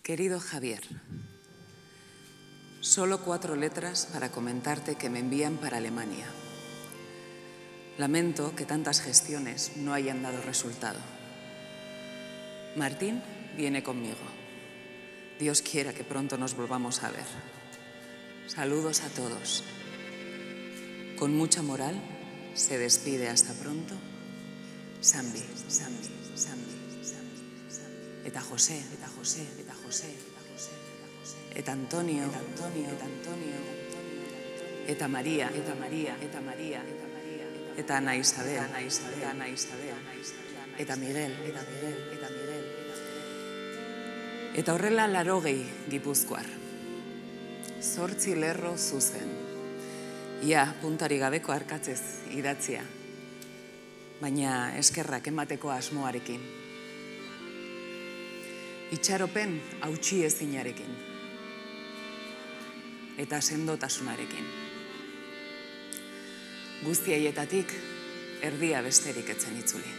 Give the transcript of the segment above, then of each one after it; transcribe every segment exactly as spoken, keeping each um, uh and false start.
Querido Javier, solo cuatro letras para comentarte que me envían para Alemania. Lamento que tantas gestiones no hayan dado resultado. Martín viene conmigo. Dios quiera que pronto nos volvamos a ver. Saludos a todos. Con mucha moral, se despide hasta pronto. Sambi, Sambi, Sambi, Sambi. Eta José, eta José, eta José, eta José, eta Antonio, eta Antonio, eta Antonio, eta María, eta María, eta María, eta María, eta Ana Isabel, Ana Isabel, Ana Isabel, eta Miguel, eta Miguel, eta Miguel. Eta horrela larogei Gipuzkoar. Zortzi lerro zuzen. Ia, puntari gabeko arkatzez idatzia. Baina eskerrak emateko asmoarekin. Itxaropen hautsi ezinarekin. Eta sendotasunarekin. Guzti haietatik erdia besterik etzen itzuli.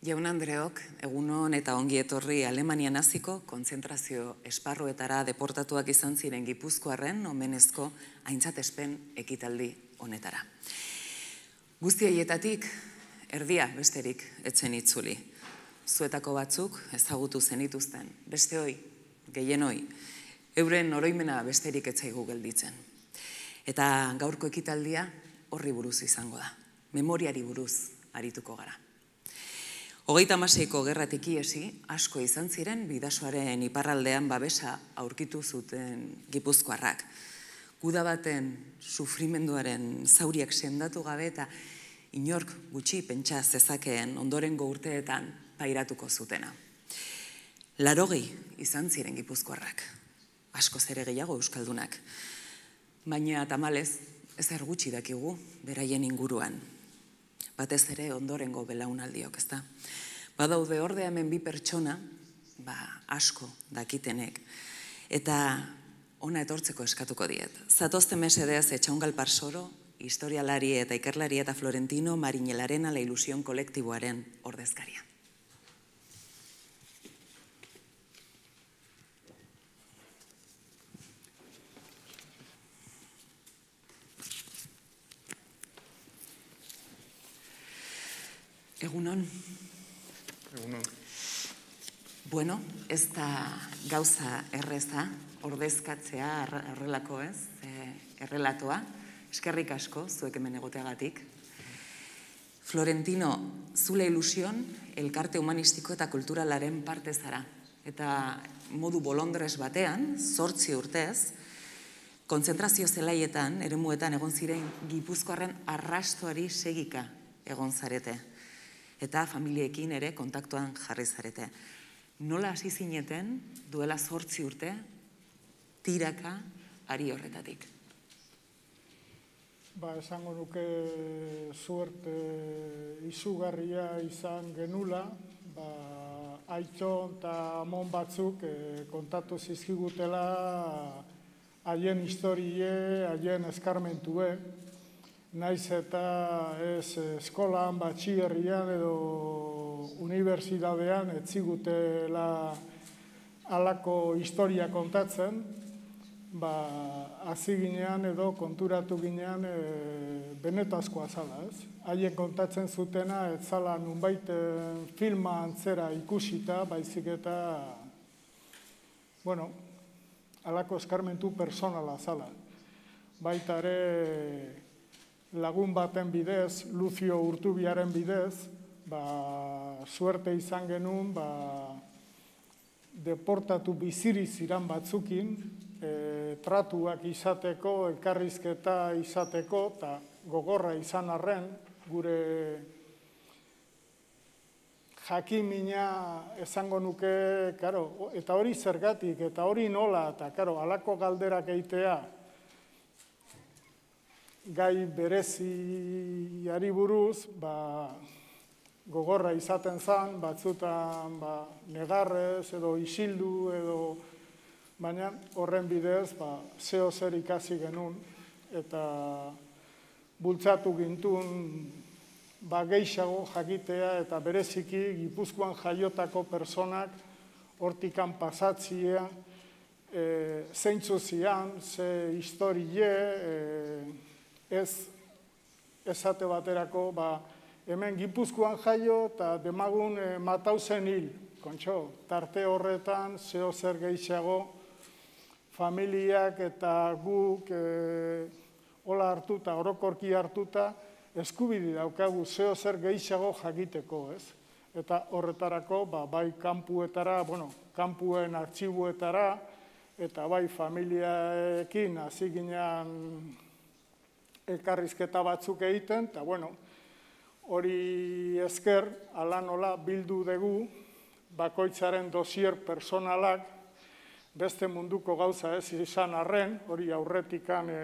Jaun Andreok, egunon eta ongi etorri Alemanian hasiko kontzentrazio esparruetara deportatuak izan ziren Gipuzkoarren omenezko aintzatespen ekitaldi honetara. Guzti haietatik erdia besterik etzen itzuli. Zuetako batzuk ezagutu zenituzten, beste hoi, gehien hoi, euren oroimena besterik etzaigu gelditzen. Eta gaurko ekitaldia horri buruz izango da, memoriari buruz arituko gara. Hogeita hamaseiko gerratik iesi, asko izan ziren bidasoaren iparraldean babesa aurkitu zuten Gipuzkoarrak. Guda baten sufrimenduaren zauriak sendatu gabe eta inork gutxi pentsa zezakeen ondorengo urteetan pairatuko zutena. Larogei izan ziren Gipuzkoarrak, asko zere gehiago euskaldunak. Baina tamalez, ezer gutxi dakigu beraien inguruan. Batez ere ondorengo belaunaldiok, ezta? Badaude ordea hemen bi pertsona, ba, asko dakitenek, eta ona etortzeko eskatuko diet. Zatozte mesedez Etxaungal Parsoro, historialari eta ikerlari eta Florentino Marinelaren ala ilusion kolektiboaren ordezkaria. Egunon. Egunon. Bueno, ez da gauza erreza, ordezkatzea errelako ez, errelatoa, eskerrik asko, zuek hemen egoteagatik. Florentino, zule ilusion, elkarte humanistiko eta kulturalaren parte zara. Eta modu bolondrez batean, zortzi urtez, kontzentrazio zelaietan, eremuetan egon ziren Gipuzkoarren arrastoari segika egon zarete. Eta familiekin ere kontaktuan jarri zarete. Nola hasi zineten duela zortzi urte tiraka ari horretatik? ba, esango nuke suerte izugarria izan genula, ba, Aitton eta amon batzuk eh, kontatu zizkigutela haien historie, haien eskarmentue, naiz eta ez eskolan, batxierrian edo unibertsitatean ez zigutela halako historia kontatzen, ba, hasi ginean edo konturatu ginean e, benetazkoa zala, ez? Haien kontatzen zutena ez zala nunbait filma antzera ikusita, baizik eta, bueno, halako eskarmentu personala zala. Baita ere lagun baten bidez, Lucio Urtubiaren bidez, ba, suerte izan genuen, ba, deportatu biziri ziran batzukin, e, tratuak izateko, elkarrizketa izateko, eta gogorra izan arren, gure jakimina esango nuke, karo, eta hori zergatik, eta hori nola, eta karo, halako galderak eitea, gai bereziari buruz, ba, gogorra izaten zen, batzutan ba, negarrez edo isildu edo, baina horren bidez ba, zeo zer ikasi genuen eta bultzatu gintun ba, gehiago jakitea eta bereziki Gipuzkoan jaiotako personak hortikan pasatzia e, zeintzu zian, ze historie, e, ez esate baterako, ba, hemen Gipuzkoan jaio eta demagun e, matauzen hil, kontxo, tarte horretan zeo zer gehiago familiak eta guk e, hola hartuta, orokorki hartuta, eskubide daukagu zeo zer gehiago jakiteko, ez? Eta horretarako, ba, bai kanpuetara, bueno, kanpuen artxibuetara, eta bai familiaekin hasi ginean elkarrizketa batzuk egiten, eta bueno, hori esker, ala nola bildu dugu, bakoitzaren dosier personalak, beste munduko gauza ez izan arren, hori aurretikan e,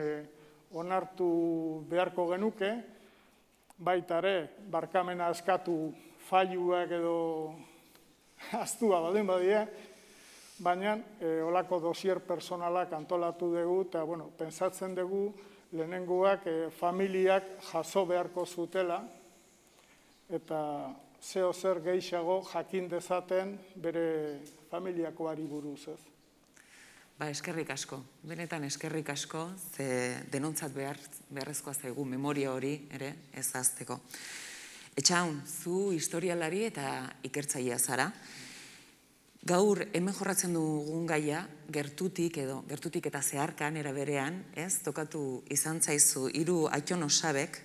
onartu beharko genuke, baita ere, barkamena eskatu failuak edo astua baldin badie, baina e, olako dosier personalak antolatu dugu, eta bueno, pentsatzen dugu lehenengoak e, familiak jaso beharko zutela, eta zeo zer gehiago jakin dezaten bere familiakoari buruz, ez? Ba, eskerrik asko, benetan eskerrik asko, ze denontzat behar, beharrezkoa zaigu memoria hori, ere, ez ahazteko. Etxaun, zu historialari eta ikertzailea zara. Gaur, hemen jorratzen dugun gaia, gertutik edo, gertutik eta zeharkan, era berean, ez, tokatu izan zaizu, hiru Aitton osabek,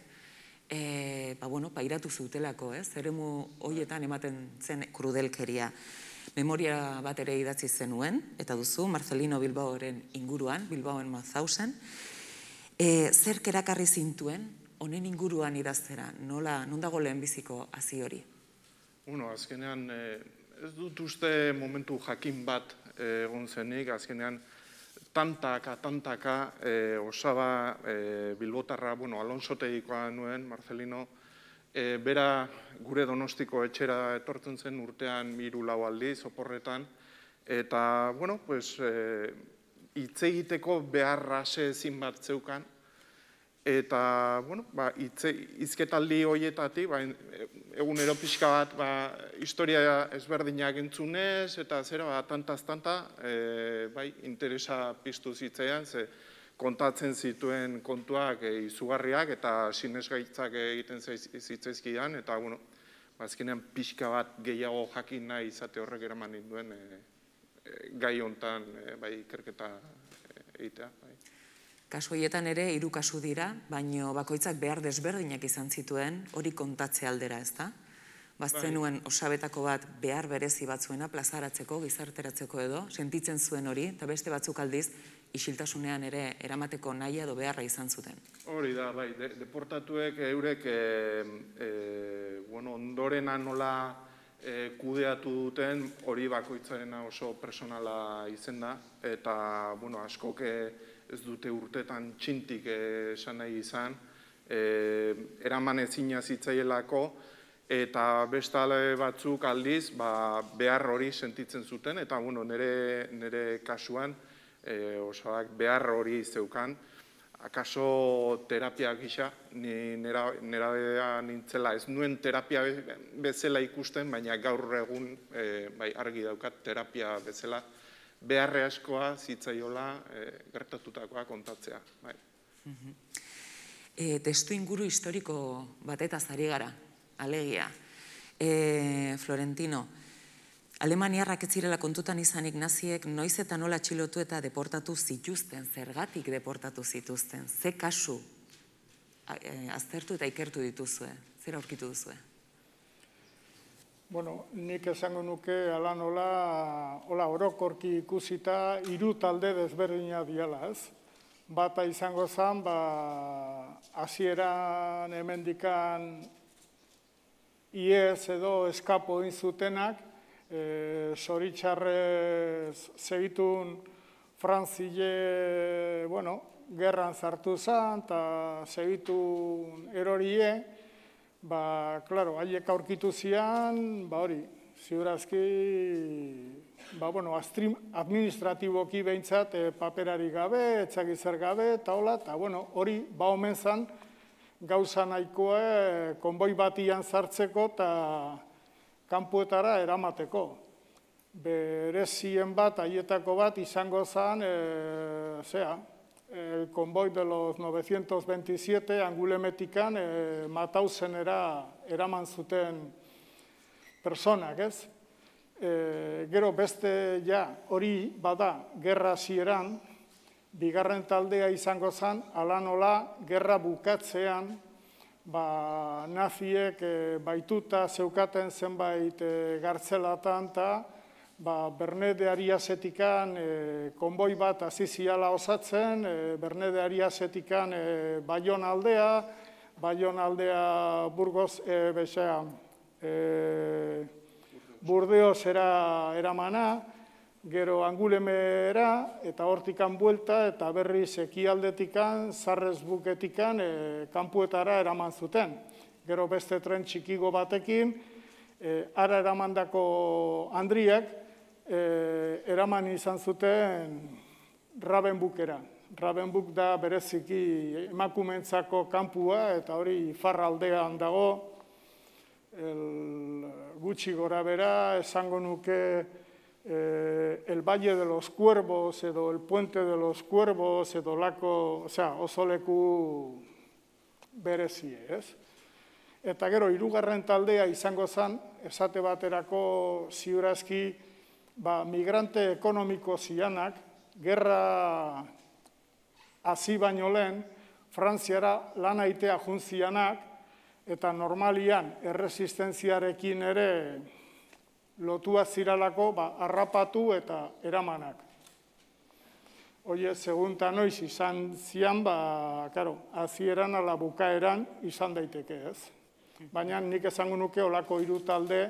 e, ba, bueno, pairatu zutelako, ez, eremu horietan ematen zen krudelkeria. Memoria bat ere idatzi zenuen, eta duzu, Marcelino Bilbaoren inguruan, Bilbaoen Mauthausen. E, zerk erakarri zintuen, honen inguruan idaztera, nola, non dago lehenbiziko hazi hori? Bueno, azkenean, ez dut uste momentu jakin bat egon zenik, azkenean, tantaka, tantaka, osaba Bilbotarra, bueno, Alonsotegikoa nuen, Marcelino, E, bera gure Donostiko etxera etortzen zen urtean hiru lau aldiz, oporretan, eta, bueno, pues, e, hitz egiteko beharra ezin bat zeukan, eta, bueno, ba, hizketaldi horietatik, ba, egunero pixka bat, ba, historia ezberdinak entzunez, eta zera, ba, tantaz-tanta, e, bai, interesa piztu zitzaidan, ze, kontatzen zituen kontuak izugarriak eta sinesgaitzak egiten zitzaizkidan, eta, bueno, azkenean pixka bat gehiago jakin nahi izate horrek eraman duen gai hontan bai ikerketa egitea. Kasu horietan ere, hiru kasu dira, baino bakoitzak behar desberdinak izan zituen hori kontatze aldera, ez da? Baztenuen osabetako bat behar berezi batzuena plazaratzeko, gizarteratzeko edo, sentitzen zuen hori, eta beste batzuk aldiz, isiltasunean ere eramateko nahi edo beharra izan zuten. Hori da, bai, deportatuek eurek ondorena nola kudeatu duten, hori bakoitzarena oso personala izen da, eta askok ez dute urtetan txintik esan nahi izan, eraman ezina zitzaielako, eta bestale batzuk aldiz behar hori sentitzen zuten, eta nire kasuan osadak behar hori zeukan, akaso terapia gisa, nera nintzela, ez nuen terapia bezala ikusten, baina gaur egun argi daukat terapia bezala, beharre askoa zitzaiola gertatutakoa kontatzea. Testu inguru historiko batetaz ari gara, alegia. Florentino, Alemaniarrak ez zirela kontutan izanik naziek noiz eta nola atxilotu eta deportatu zituzten, zergatik deportatu zituzten, ze kasu aztertu eta ikertu dituzue, zer aurkitu duzue? Bueno, nik esango nuke ala nola, hola orokorki ikusita hiru talde desberdina diala, ez? Bata izango zen, ba, hasieran hemendikan iez edo eskapo inzutenak, zoritxarrez segitun Frantzile, bueno, gerran zartu zen, eta segitun erorie, ba, klaro, haiek aurkitu zian, ba hori, ziurazki, ba, bueno, administratiboki behintzat paperari gabe, etxagizer gabe, eta hola, eta, bueno, hori, ba, omen zen, gauza nahikoa, konboi batian sartzeko, eta kanpuetara eramateko. Berezien bat, haietako bat, izango zen, zera, el konboi de los novecientos veintisiete Angulemetikan Mathausenera eraman zuten personak, ez? Gero beste ja hori bada gerra hasieran, bigarren taldea izango zen, ala nola gerra bukatzean, ba, naziek baituta zeukaten zenbait gartzelatan eta ba, Berne de Ariasetikan konboi bat aziziala osatzen, Berne de Ariasetikan Baion aldea, Baion aldea Burgos, bezea, Burdeos eramana, gero Angulemera, eta hortikan buelta, eta berriz ekialdetikan, Sarresbuketikan, kanpuetara eraman zuten. Gero beste tren txikigo batekin, ara eramandako handriak, eraman izan zuten Rabenbukera. Rabenbuk da bereziki emakumentzako kanpua, eta hori iparraldean dago, gutxi gora bera, esango nuke, el Valle de los Cuervos edo el Puente de los Cuervos edo lako, osea, oso leku berezie, ez? Eta gero, hirugarren taldea izango zen, esate baterako ziurazki, ba, migrante ekonomiko zianak, gerra hasi baino lehen, Frantziara lan aitea juntzianak, eta normalian erresistentziarekin ere lotua ziralako, ba, harrapatu eta eramanak. Oie, segunta noiz izan zian, ba, karo, hasieran ala bukaeran izan daiteke, ez? Baina nik esango nuke olako hiru talde,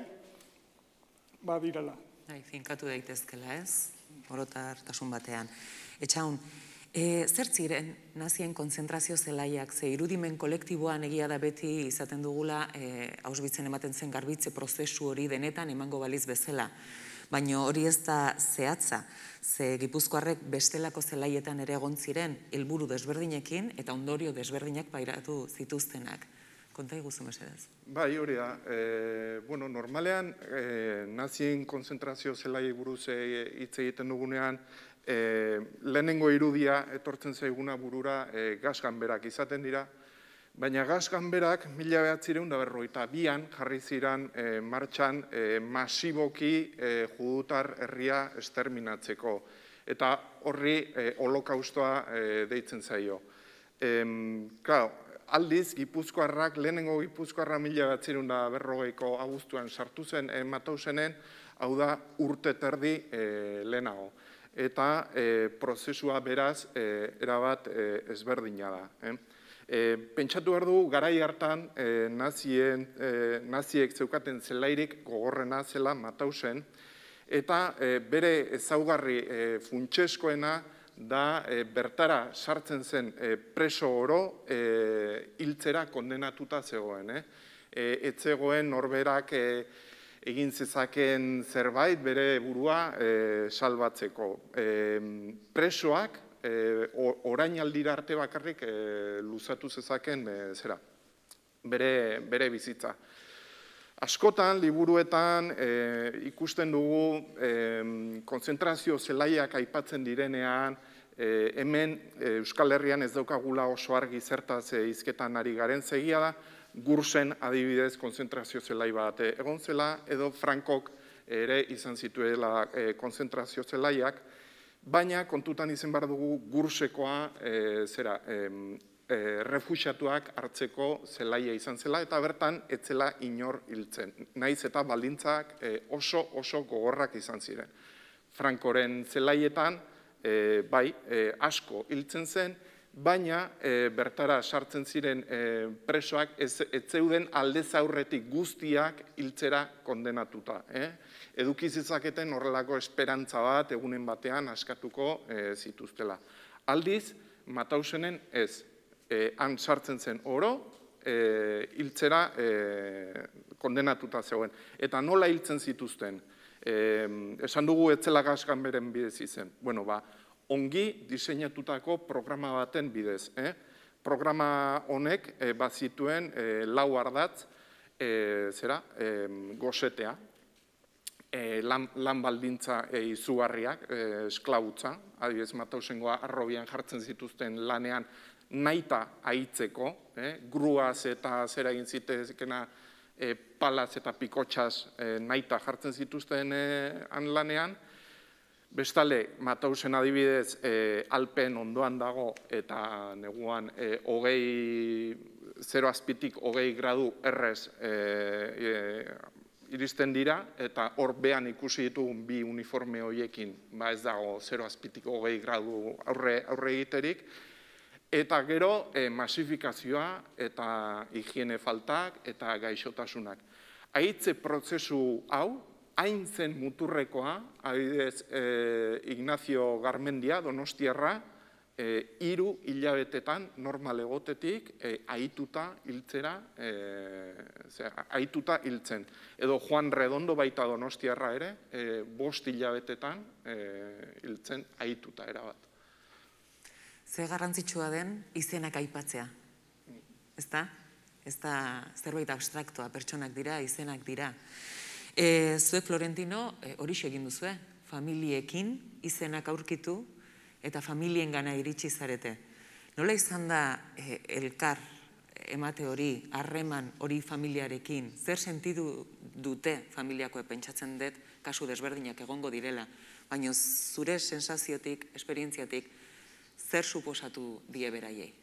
ba, direla. Bai, finkatu daitezkela, ez? Orotartasun batean. Etxaun, zer ziren nazien konzentrazio zelaiak, ze irudimen kolektiboan egia da beti izaten dugula Auschwitzen ematen zen garbitze prozesu hori denetan emango baliz bezala. Baina hori ez da zehatza, ze Gipuzkoarrek bestelako zelaietan ere egon ziren helburu desberdinekin eta ondorio desberdinak pairatu zituztenak. Konta iguzu mesedez. Bai, hori da. Bueno, normalean nazien konzentrazio zelai buruz hitz egiten dugunean, lehenengo irudia etortzen zaiguna burura gasganberak izaten dira, baina gasganberak mila bederatziehun eta berrogeita bian jarri ziren martxan masiboki judutar herria esterminatzeko, eta horri holokaustoa deitzen zaio. Claro, aldiz, Gipuzkoarrak, lehenengo Gipuzkoarra mila bederatziehun eta berrogeiko abuztuan sartu zen Mathausenen, hau da urte terdi lehenago. Eta prozesua beraz erabat ezberdina da. Pentsatu behar du, garai hartan naziek zeukaten zelairik gogorrena zela Mathausen, eta bere ezaugarri funtseskoena da bertara sartzen zen preso oro hiltzera kondenatuta zegoen. Ez zegoen norberak egin zezaken zerbait bere burua salbatzeko. Presoak orainaldira arte bakarrik luzatu zezaken zera, bere bizitza. Askotan, liburuetan ikusten dugu konzentrazio zelaiak aipatzen direnean, hemen Euskal Herrian ez daukagula oso argi zertaz hizketan ari garen, zegia da, Gursen adibidez konzentrazio zelai bat egon zela, edo Frankok ere izan zituela konzentrazio zelaiak, baina kontutan izan behar dugu Gursekoa zera, refuxiatuak hartzeko zelaia izan zela, eta bertan etzela inor hiltzen. Naiz eta baldintzak oso oso gogorrak izan ziren. Frankoren zelaietan, bai, asko hiltzen zen, baina bertara sartzen ziren presoak ez zeuden aldez aurretik guztiak hiltzera kondenatuta. Eduki zezaketen horrelako esperantza bat egunen batean askatuko zituztela. Aldiz, Matausenen ez. Han sartzen zen oro, hiltzera kondenatuta zegoen. Eta nola hiltzen zituzten? Esan dugu etzela gaskan beren bidez izen. Bueno, ba, ongi diseinatutako programa baten bidez. Programa honek bat zituen lau ardatz, zera, gosetea, lan baldintza izugarriak, esklabutza, adibidez Matausengoa arrobian jartzen zituzten lanean naita aitzeko, gruaz eta zera egin zitezkena palaz eta pikotxaz naita jartzen zituzten lanean. Bestale, Matausen adibidez Alpen ondoan dago eta neguan hogei, zero azpitik hogei gradu errez iristen dira, eta hor behan ikusi ditugun bi uniforme horiekin, ba ez dago zero azpitik hogei gradu aurre egiterik, eta gero masifikazioa eta higiene faltak eta gaixotasunak. Aitze prozesu hau, hain zen muturrekoa, adibidez Ignacio Garmendia, Donostiarra, hiru hilabetetan normal egotetik ahituta hiltzera, ahituta hiltzen. Edo Juan Redondo baita Donostiarra ere, bost hilabetetan hiltzen ahituta erabat. Ze garrantzitsua den izenak aipatzea, ezta? Ez da zerbait abstraktoa, pertsonak dira, izenak dira. Zue Florentino horixe egin duzue, familiekin izenak aurkitu eta familien gana iritsi zarete. Nola izan da elkar emate hori, harreman hori familiarekin, zer sentidu dute familiakoe pentsatzen dut, kasu desberdinak egongo direla, baina zure sensaziotik, esperientziatik, zer suposatu die beraiei?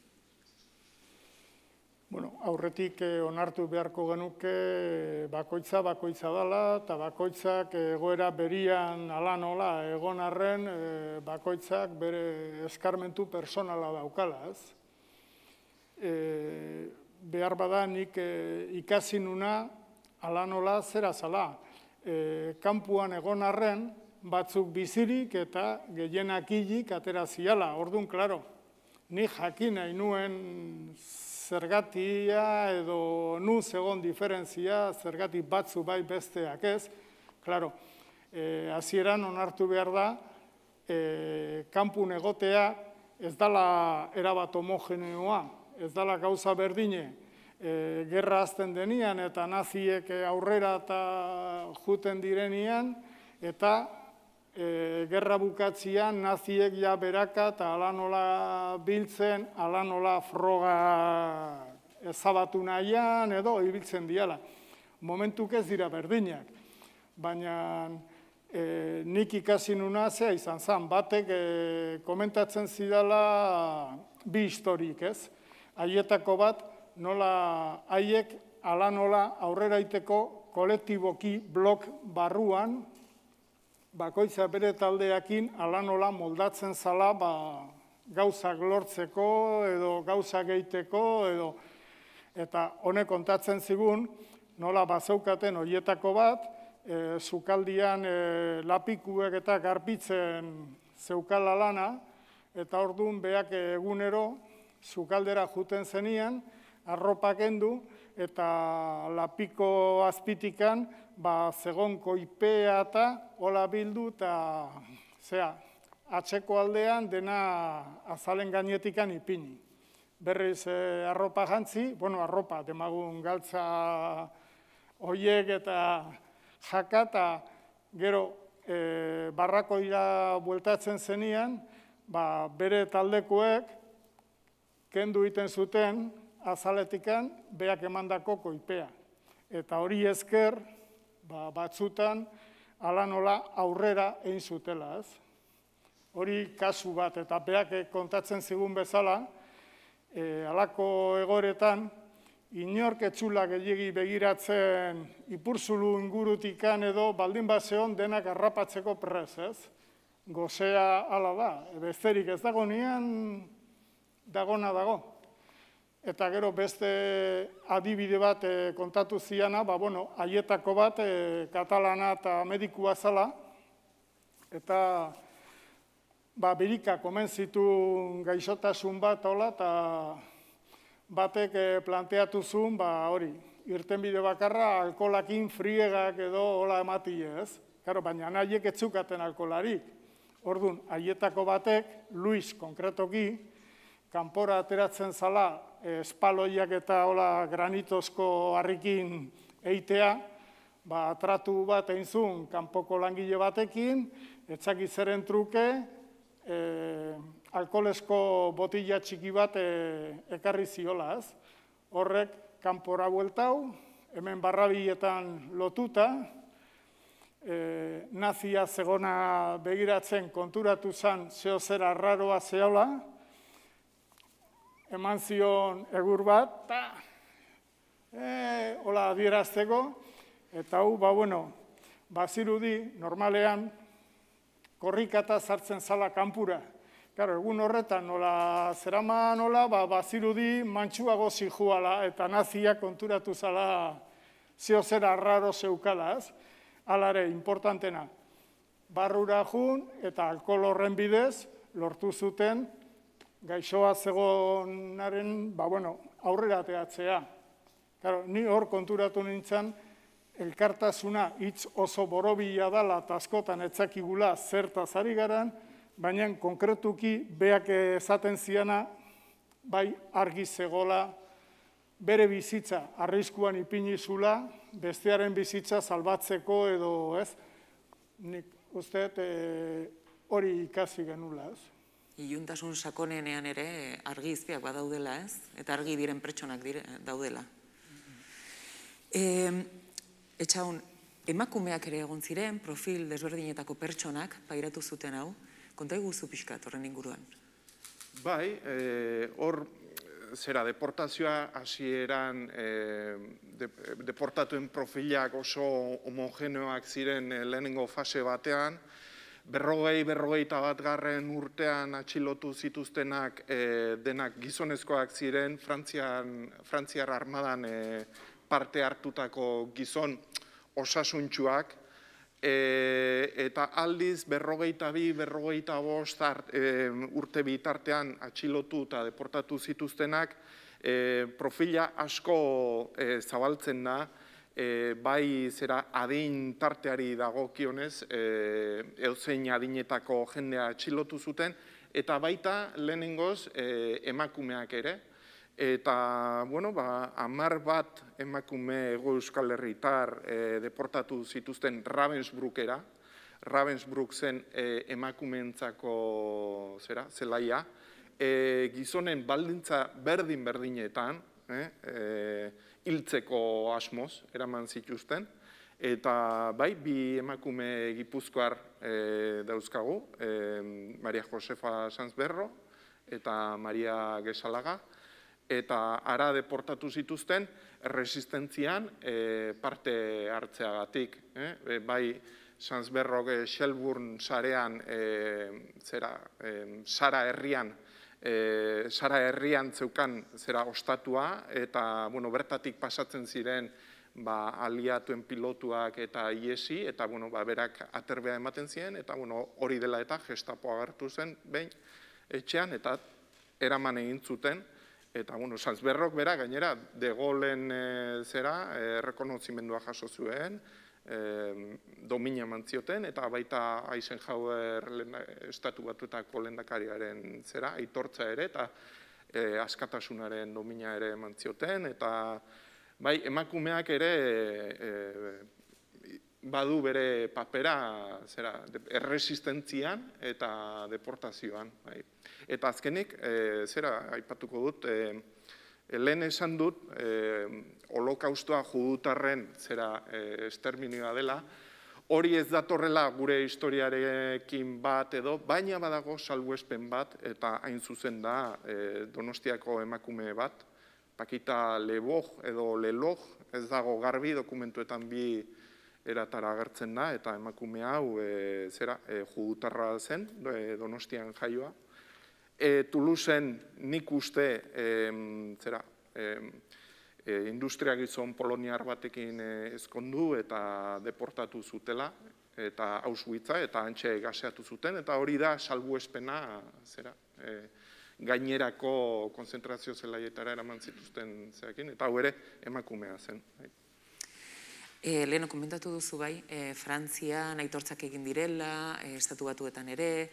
Bueno, aurretik onartu beharko genuke bakoitza bakoitza dela, eta bakoitzak egoera berian ala nola egon arren bakoitzak bere eskarmentu personala daukala, ez? Behar bada nik ikasi nuna ala nola zera zala. Kanpuan egon arren batzuk bizirik eta gehienak hilik atera ziala. Orduan, klaro, nik jakin nahi nuen zergatia edo nu zegon diferentzia, zergatik batzu bai besteak ez. Klaro, hasieran onartu behar da, kanpun egotea ez dala erabat homogeneoa, ez dala gauza berdine. Gerra azten denian eta naziek aurrera eta juten direnian, eta gerra bukatzian naziek ja beraka eta ala nola biltzen, ala nola froga ezabatu nahian edo ibiltzen diala. Momentuk ez dira berdinak, baina nik ikasi nuna zea izan zen, batek komentatzen zidala bi historik, ez? Haietako bat, nola haiek ala nola aurrera iteko kolektiboki blok barruan, bakoitza bere taldeakin ala nola moldatzen zala gauzak lortzeko edo gauzak egiteko edo eta honek kontatzen zigun nola bazaukaten horietako bat sukaldian lapikuek eta garbitzen zeukala lana eta orduan beak egunero sukaldera juten zenian, arropa kendu, eta lapiko azpitikan, ba, zegon koipea eta hola bildu, eta zera, atzeko aldean dena azalen gainetikan ipini. Berriz eh, arropa jantzi, bueno, arropa, demagun galtza hoiek eta jaka, eta gero eh, barrakoira bueltatzen zenian, ba, bere taldekoek kendu iten zuten azaletikan beak emandako koipea. Eta hori esker, ba, batzutan, ala nola aurrera egin zutela, ez? Hori kasu bat, eta beak kontatzen zigun bezala, e, alako egoretan, inork etxula gehiagi begiratzen ipurzulu ingurutikan edo baldin baseon denak harrapatzeko prez, ez? Gozea ala da, besterik ez dago nian, dagona dago. Eta gero beste adibide bat e, kontatu ziana, ba, bueno, haietako bat e, katalana eta medikua zala, eta ba, birika komen zituen gaixotasun bat, hola, eta batek e, planteatu zuen, ba, hori, irtenbide bakarra alkolakin friegak edo hola ematie, ez? Karo, baina nahiek etzukaten alkolarik. Orduan, haietako batek, Luis konkretoki, kanpora ateratzen zala, espaloiak eta hola granitozko harrikin eitea, ba, tratu bat egin zuen kanpoko langile batekin, etzaki zeren truke, e, alkoholezko botila txiki bat e, ekarri ziola, ez? Horrek kanpora bueltau, hemen barrabietan lotuta, e, nazia zegona begiratzen konturatu zen zeo zera arraroa zeola, eman zion egur bat, eta e, hola adierazteko, eta hau, ba, bueno, bazirudi, normalean, korrikata sartzen zala kanpura. Karo, egun horretan, nola zerama nola, ba, bazirudi mantxuago zijuala, eta nazia konturatu zala zeo zera arraro zeukala, ez? Alare, importantena, barrura jun eta alkohol horren bidez lortu zuten gaixoa zegonaren, ba, bueno, aurrera ateatzea. Claro, ni hor konturatu nintzen, elkartasuna hitz oso borobila dala eta askotan etzakigula zertaz ari garan, baina konkretuki beak esaten ziana, bai argi zegola, bere bizitza arriskuan ipinizula, bestearen bizitza salbatzeko edo, ez? Nik uste hori e, ikasi genula, ez? Iluntasun sakonenean ere argi izpiak badaudela, ez? Eta argi diren pertsonak dire, daudela. E, Etxaun, emakumeak ere egon ziren, profil desberdinetako pertsonak pairatu zuten hau. Konta iguzu pixkat horren inguruan? Bai, hor, e, zera, deportazioa hasieran e, de, deportatuen profilak oso homogeneoak ziren e, lehenengo fase batean, berrogei, berrogeita bat garren urtean atxilotu zituztenak e, denak gizonezkoak ziren, Frantzian, Frantziar armadan e, parte hartutako gizon osasuntsuak, e, eta aldiz berrogeita bi, berrogeita bost e, urte bitartean atxilotu eta deportatu zituztenak, e, profila asko e, zabaltzen da, E, bai zera adin tarteari dagokionez, e, eozein adinetako jendea atxilotu zuten, eta baita lehenengoz e, emakumeak ere. Eta, bueno, ba, hamar bat emakume Hego Euskal Herritar e, deportatu zituzten Ravensbrückera. Ravensbrück zen e, emakumeentzako zera, zelaia. E, gizonen baldintza berdin-berdinetan, eh, e, hiltzeko asmoz eraman zituzten, eta bai, bi emakume gipuzkoar e, dauzkagu, e, Maria Josefa Sanzberro eta Maria Gesalaga, eta ara deportatu zituzten resistentzian e, parte hartzeagatik. Eh? E, bai, Sanzberrok Shelburne sarean, e, zera, e, Sara herrian, E, Sara herrian zeukan zera ostatua, eta bueno, bertatik pasatzen ziren ba, aliatuen pilotuak eta iesi, eta bueno, ba, berak aterbea ematen ziren, eta bueno, hori dela eta Gestapo agertu zen, behin, etxean, eta eraman egin zuten, eta, bueno, Salzberrok bera, gainera, de Gaullen zera, errekonozimendua jaso zuen, domina mantzioten, eta baita Eisenhower estatu batuetako lehendakariaren zera, aitortza ere, eta askatasunaren domina ere mantzioten, eta bai, emakumeak ere badu bere papera zera, erresistentzian eta deportazioan. Eta azkenik, zera, aipatuko dut, lehen esan dut, holokaustoa judutarren zera esterminioa dela, hori ez datorrela gure historiarekin bat edo, baina badago salbuespen bat, eta hain zuzen da Donostiako emakume bat, Pakita Leboj edo Leloj, ez dago garbi, dokumentuetan bi eratara agertzen da, eta emakume hau zera judutarra zen, Donostian jaioa. Toulouseen nik uste zera industria gizon poloniar batekin ezkondu eta deportatu zutela, eta Auschwitza, eta hantxe gaseatu zuten, eta hori da salbuespena zera gainerako konzentrazio zelaietara eraman zituzten zeakin, eta hau ere emakumea zen. Leheno, komentatu duzu bai, Frantzian aitortzak egin direla, estatu batuetan ere,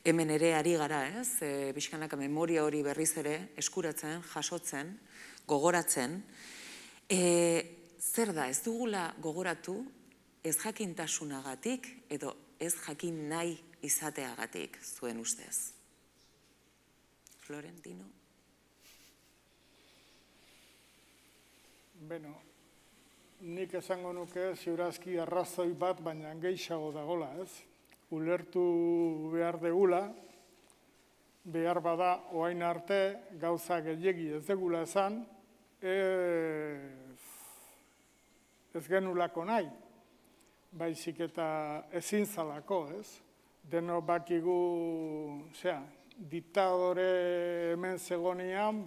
hemen ere ari gara, ez? Pixkanaka memoria hori berriz ere eskuratzen, jasotzen, gogoratzen. Zer da, ez dugula gogoratu ez jakintasunagatik edo ez jakin nahi izateagatik zuen ustez? Florentino? Beno, nik esango nuke ziurazki arrazoi bat, baina gehiago dagola, ez? Ulertu behar degula, behar bada oain arte gauza gehiegi ez degula esan, ez genulako nahi, baizik eta ezin zalako, ez? Deno bakigu, zera, diktadore hemen zegonian,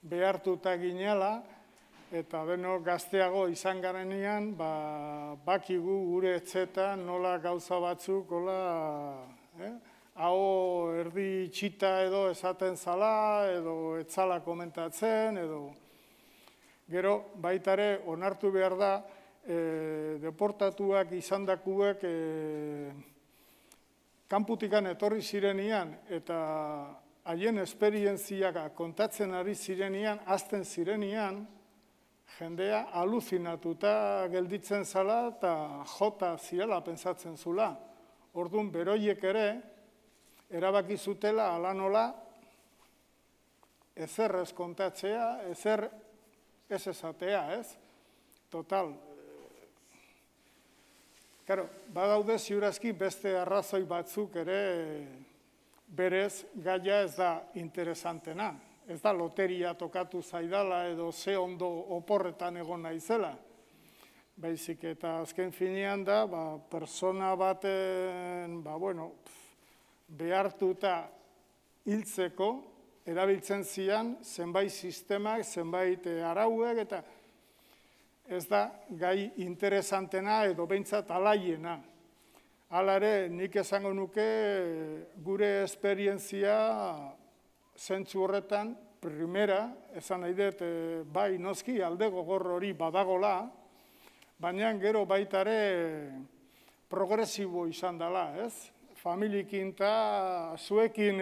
behartuta ginela, eta deno gazteago izan garenean, bakigu gure etxetan nola gauza batzuk, hau erdi txita edo esaten zala, edo etzala komentatzen, edo gero baitare onartu behar da, deportatuak izan dakuek kanputikan etorri zirenian, eta haien esperientziak kontatzen ari zirenian, azten zirenian, jendea aluzinatuta gelditzen zala eta jota zirela pentsatzen zula. Orduan, beroiek ere, erabaki zutela ala nola, ezer ez kontatzea, ezer ez esatea, ez? Total. Karo, badaude ziurazki beste arrazoi batzuk ere berez gaia ez da interesantena. Ez da loteria tokatu zaidala edo ze ondo oporretan egon naizela. Baizik eta azken finean da, persona baten, behartuta hiltzeko, erabiltzen zian zenbait sistemak, zenbait arauek, eta ez da gai interesantena edo behintzat alaiena. Hala ere, nik esango nuke gure esperientzia zentzu horretan, primera, esan nahi dut, bai noski alde gogor hori badagola, baina gero baitare progresibo izan dela, ez? Familiekin eta zuekin,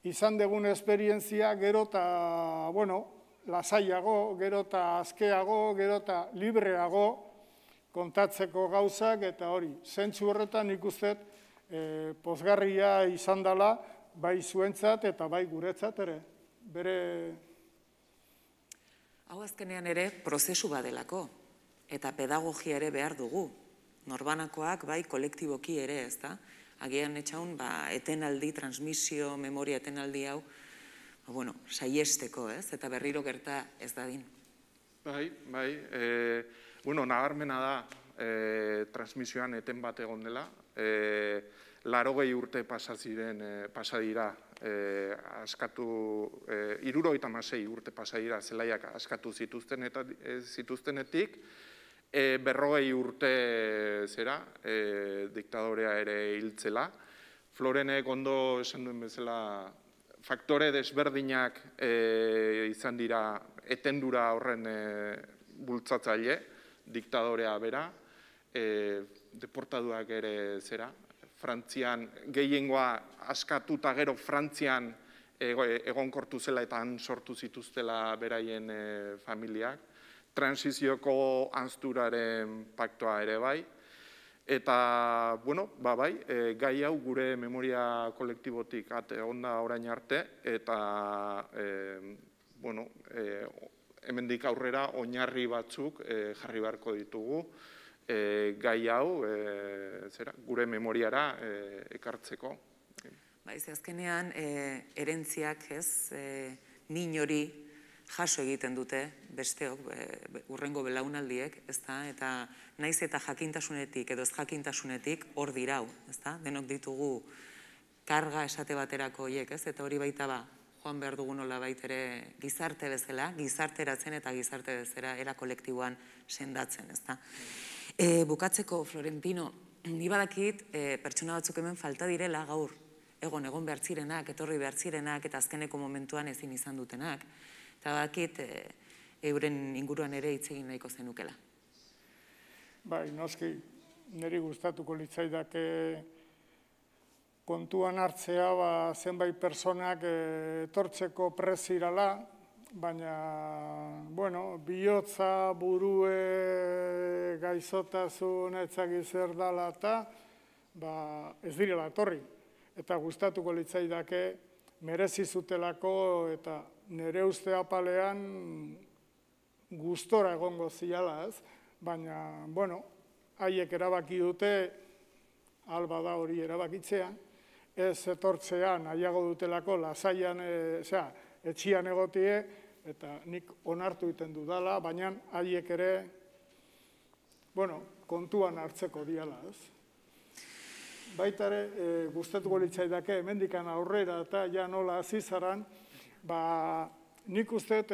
izan degun esperientzia gero eta, bueno, lasaiago, gero eta azkeago, gero eta libreago kontatzeko gauzak, eta hori, zentzu horretan ikustet pozgarria izan dela, bai zuentzat eta bai guretzat ere, bere... Hau azkenean ere prozesu badelako, eta pedagogia ere behar dugu. Norbanakoak bai kolektiboki ere, ez da? Agian etxaun, etenaldi, transmisio, memoria etenaldi hau, bueno, saiesteko, ez? Eta berriro gerta ez dadin. Bai, bai, bueno, nabarmena da transmisioan eten bat egon dela, larogei urte pasadira, askatu, hirurogeita hamasei urte pasadira zelaiak askatu zituztenetik, berrogei urte zera, diktadorea ere hiltzela, Florenek ondo esan duen bezala, faktore desberdinak izan dira etendura horren bultzatzaile, diktadorea bera, deportaduak ere zera, Frantzian, gehiengoa askatuta gero Frantzian egonkortu zela eta han sortu zituztela beraien familiak, transizioko ansturaren paktoa ere bai, eta, bueno, ba bai, gai hau gure memoria kolektibotik ate onda orain arte, eta, bueno, hemendik aurrera oinarri batzuk jarri beharko ditugu, gai hau gure memoriara ekartzeko. Baiz, azkenean, erentziak ez, min hori jaso egiten dute besteok, urrengo belaunaldiek, eta naiz eta jakintasunetik edo ez jakintasunetik hor dirau, denok ditugu karga esate baterako horiek, eta hori baita ba, joan behar dugu nola baitere gizarte bezala, gizarteratzen eta gizarte bezala era kolektiboan sendatzen, ezta. Bukatzeko, Florentino, ni badakit pertsona batzuk hemen falta direla gaur, egon egon behar zirenak, etorri behar zirenak, eta azkeneko momentuan ezin izan dutenak, eta badakit euren inguruan ere hitz egin nahiko zenukela. Bai, noski, niri gustatuko litzaidake kontuan hartzea zenbait personak etortzeko prezirala, baina, bueno, bihotza, burue, gaizotasun, etzagiz zer dala eta ez direla etorri. Eta gustatuko litzaidake merezi zutelako eta nire uste apalean gustora egongo ziala, ez? Baina, bueno, haiek erabaki dute, alba da hori erabakitzea, ez etortzea nahiago dutelako lasaian, osea, etxian egotie, eta nik onartu egiten dudala, baina haiek ere, bueno, kontuan hartzeko diala, ez? Baita ere, gustatuko litzaidake, hemendikan aurrera eta ja nola azizaran, ba, nik uste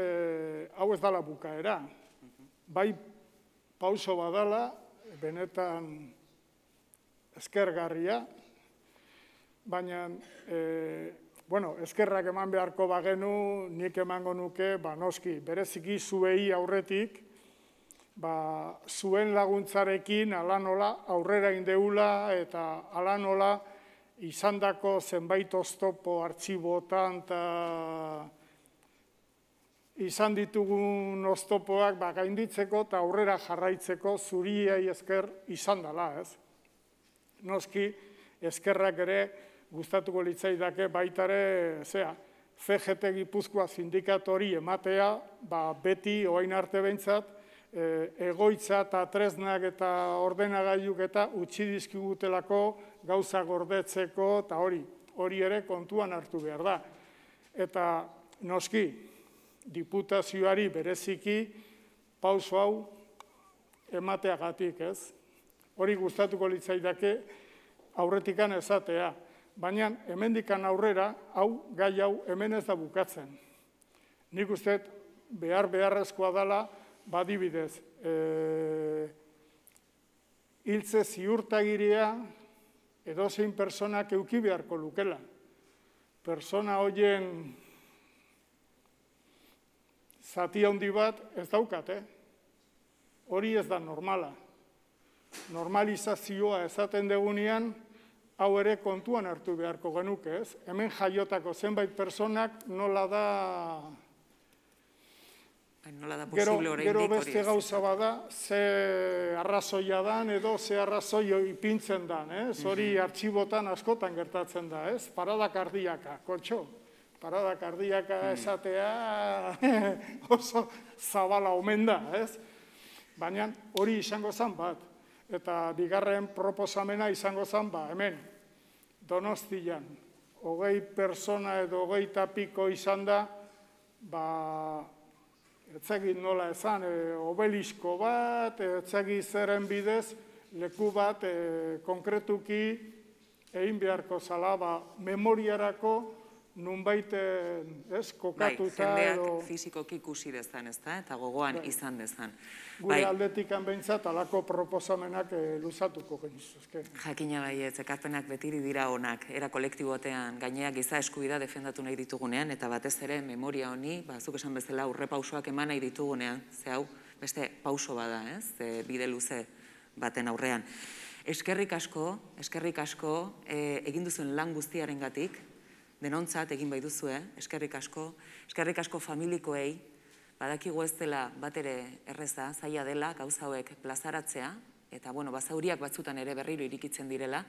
hau ez dala bukaera. Bai pauso badala, benetan eskergarria, baina, bueno, eskerrak eman beharko bagenu, nik emango nuke, ba, noski, bereziki zuei aurretik, ba, zuen laguntzarekin ala nola aurrera indeula eta ala nola izandako zenbait oztopo artxibotan eta izan ditugun oztopoak ba, gainditzeko eta aurrera jarraitzeko zuriei esker izan dela, ez? Noski, eskerrak ere gustatuko litzaidake baitare, zera, C G T Gipuzkoa sindikatori ematea, ba, beti, oain arte behintzat, egoitza eta tresnak eta ordenagailuk eta utzi dizkigutelako gauza gordetzeko eta hori, hori ere kontuan hartu behar da. Eta noski, diputazioari bereziki pauso hau emateagatik, ez? Hori gustatuko litzaidake aurretikan esatea, baina hemendikan aurrera, hau, gai hau, hemen ez da bukatzen. Nik uste behar beharrezkoa dela, badibidez, hiltze ziurtagiria edozein personak euki beharko lukela. Persona horien zati handi bat ez daukat, hori ez da normala. Normalizazioa esaten degunean, hau ere kontuan hartu beharko genuke, ez? Hemen jaiotako zenbait personak nola da... Gero beste gauza bada, ze arrazoia dan edo ze arrazoi ipintzen dan, hori artxibotan askotan gertatzen da, ez? Parada kardiaka, kotxo, parada kardiaka esatea oso zabala omen da, ez? Baina hori izango zen bat, eta bigarren proposamena izango zen, ba, hemen, Donostian, hogei persona edo hogei tapiko izan da, ba, etzagit nola esan, obelisko bat, etzagit zeren bidez, leku bat konkretuki egin beharko zala, ba, memoriarako nunbait ez, Bai, kokatuta jendeak edo fizikoki ikusi dezan, ez da, eta gogoan izan dezan. gure aldetik behintzat alako proposamenak luzatuko genizuzke. Jakina baietz, ekarpenak betiri dira onak, era kolektibotean gaineak giza eskubidea defendatu nahi ditugunean, eta batez ere memoria honi, zuk esan bezala, urre pausoak eman nahi ditugunean, ze hau, beste pauso bada, ez, bide luze baten aurrean. Eskerrik asko, eskerrik asko, egin duzuen lan guztiarengatik, denontzat egin bai duzue, eskerrik asko, eskerrik asko familikoei, badakigu ez dela bat ere erreza, zaila dela, gauza hauek plazaratzea, eta, bueno, bazauriak batzutan ere berriro irikitzen direla,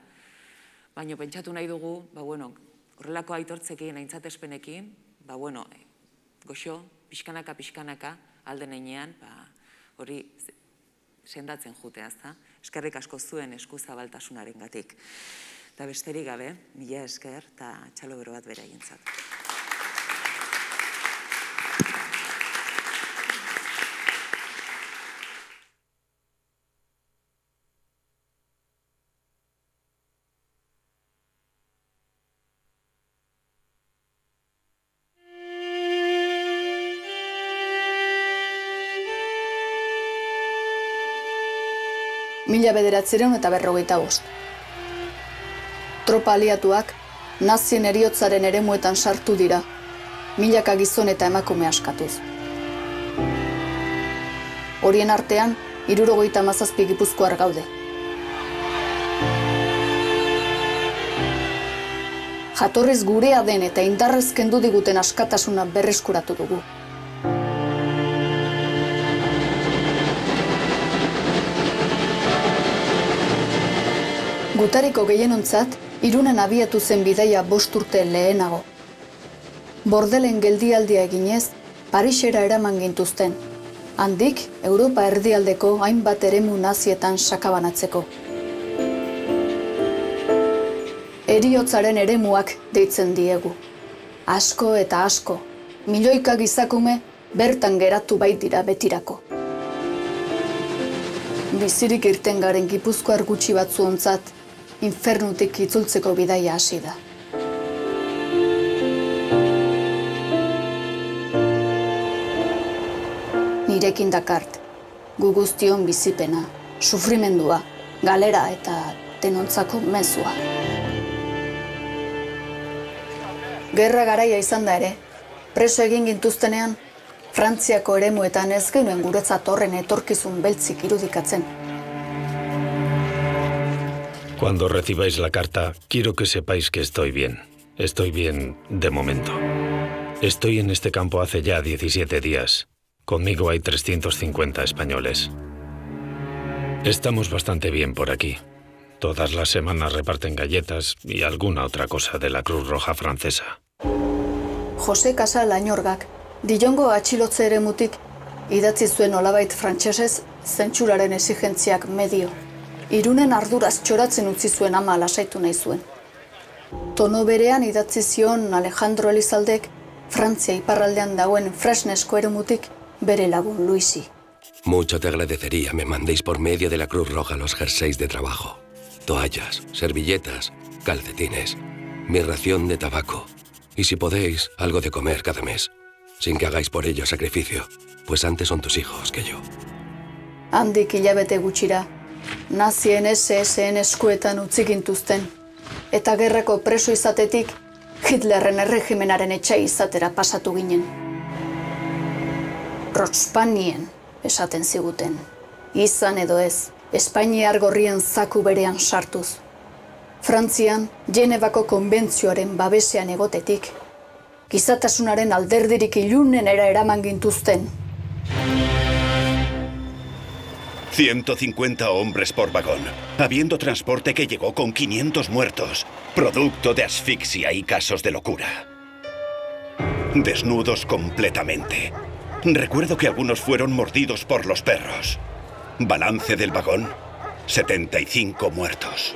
baina pentsatu nahi dugu, ba, bueno, horrelako aitortzekin, aintzatespenekin, ba, bueno, goxo, pixkanaka, pixkanaka, alden einean, ba, hori sendatzen jutea, ezta? Eskerrik asko zuen eskuzabaltasunaren gatik. Eta besterik gabe, mila esker, eta txalo bero bat bere egintzat. Mila bederatziehun eta berrogeita bost. Tropa aliatuak nazien heriotzaren eremuetan sartu dira, milaka gizon eta emakume askatuz. Horien artean, hirurogeita hamazazpi gipuzkoar gaude. Jatorriz gurea den eta indarrez kendu diguten askatasuna berreskuratu dugu. Gutariko gehienontzat, Irunen abiatu zen bidaia bost urte lehenago. Bordelen geldialdia eginez, Parisera eraman gintuzten. Handik, Europa erdialdeko hainbat eremu nazietan sakabanatzeko. Heriotzaren eremuak deitzen diegu. Asko eta asko, milioika gizakume bertan geratu baitira betirako. Bizirik irten garen gipuzkoar gutxi batzuontzat, infernutik itzultzeko bidaia hasi da. Nirekin dakart, gu guztion bizipena, sufrimendua, galera eta denontzako mezua. Gerra garaia izan da ere, preso egin gintuztenean, Frantziako eremuetan ez genuen guretzat horren etorkizun beltzik irudikatzen. Cuando recibáis la carta, quiero que sepáis que estoy bien. Estoy bien de momento. Estoy en este campo hace ya diecisiete días. Conmigo hay trescientos cincuenta españoles. Estamos bastante bien por aquí. Todas las semanas reparten galletas y alguna otra cosa de la Cruz Roja francesa. Jose Casal Añorgak, Dillongo atxilotze eremutik, idatzi zuen olabait frantsesez zentsuraren exigentziak medio. Irunen arduraz txoratzen utzi zuen ama lasaitu nahi zuen. Tono berean idatzi zion Alejandro Elizaldek Frantzia iparraldean dauen Fresnesko eremutik bere lagun Luisi. Mucho te agradecería me mandéis por medio de la Cruz Roja los jerseys de trabajo, toallas, servilletas, calcetines, mi ración de tabaco y si podéis, algo de comer cada mes, sin que hagáis por ello sacrificio, pues antes son tus hijos que yo. Handik hilabete gutxira, nazien ese esen eskuetan utzi gintuzten, eta gerrako preso izatetik Hitlerren erregimenaren etxai izatera pasatu ginen. Rotspanien esaten ziguten, izan edo ez, Espainiar gorrien zaku berean sartuz. Frantzian, Genevako konbentzioaren babesean egotetik, gizatasunaren alderdirik ilunenera eraman gintuzten. ciento cincuenta hombres por vagón, habiendo transporte que llegó con quinientos muertos, producto de asfixia y casos de locura. Desnudos completamente. Recuerdo que algunos fueron mordidos por los perros. Balance del vagón, setenta y cinco muertos.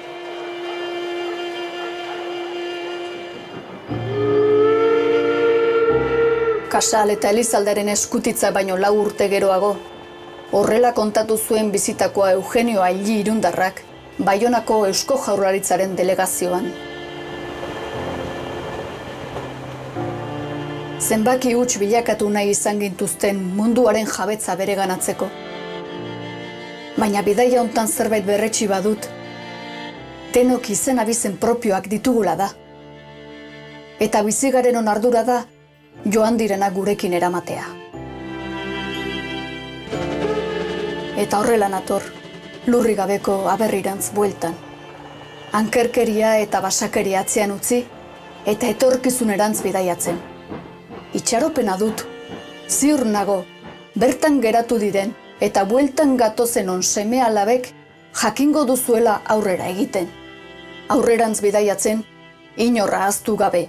Casal eta Elizalderen eskutitza baino lau urte geroago, horrela kontatu zuen bizitakoa Eugenio Aili Irundarrak, Baionako Eusko Jaurlaritzaren delegazioan. zenbaki huts bilakatu nahi izan gintuzten munduaren jabetza bereganatzeko. Baina bidaia hontan zerbait berretsi badut, denok izen abizen propioak ditugula da. Eta bizigaren ardura da, joan direna gurekin eramatea. Eta horrela nator, lurri gabeko aberrirantz bueltan. Ankerkeria eta basakeria atzean utzi, eta etorkizunerantz bidaiatzen. Itxaropena dut, ziur nago, bertan geratu diren, eta bueltan gatozen on seme alabek jakingo duzuela aurrera egiten. Aurrerantz bidaiatzen, inorra ahaztu gabe.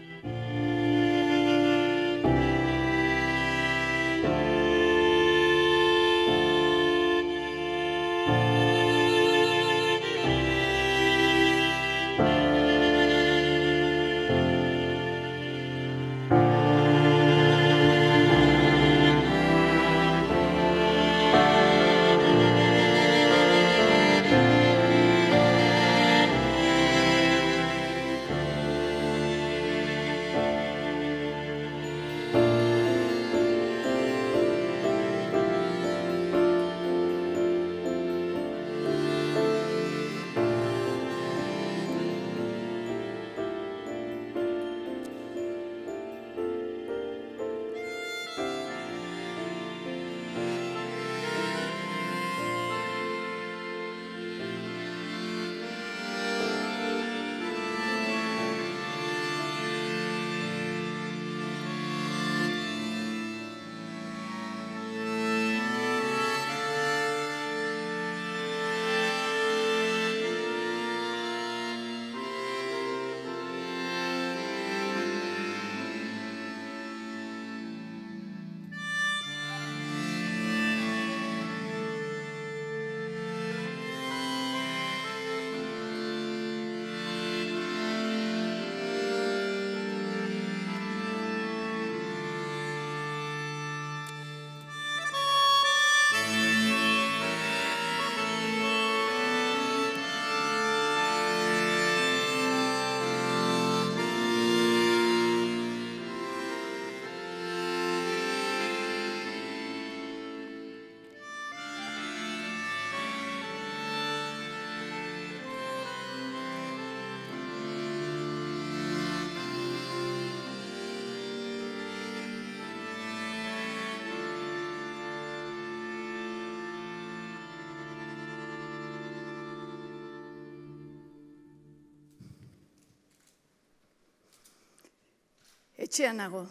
Etxean nago,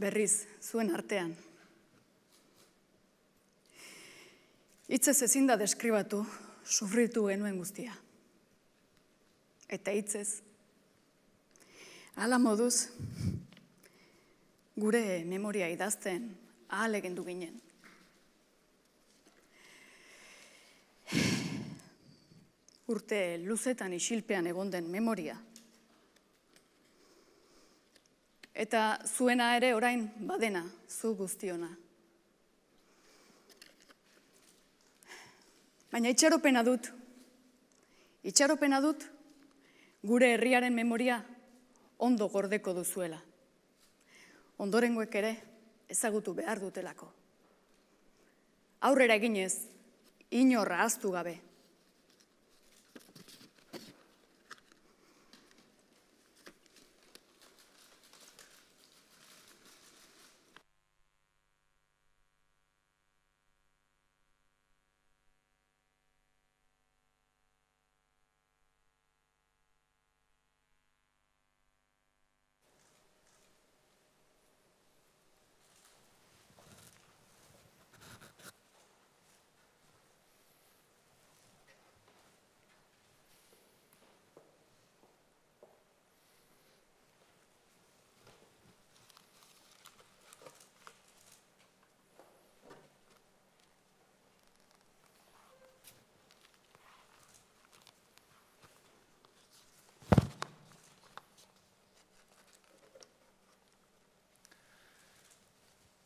berriz, zuen artean. Hitzez ezin da deskribatu, sufritu genuen guztia. Eta hitzez, hala moduz, gure memoria idazten ahalegendu ginen. Urte luzetan isilpean egon den memoria. Eta zuena ere orain badena, zu guztiona. Baina itxaropena dut, itxaropena dut, gure herriaren memoria ondo gordeko duzuela. Ondorengoek ere ezagutu behar dutelako. Aurrera eginez, inorra ahaztu gabe.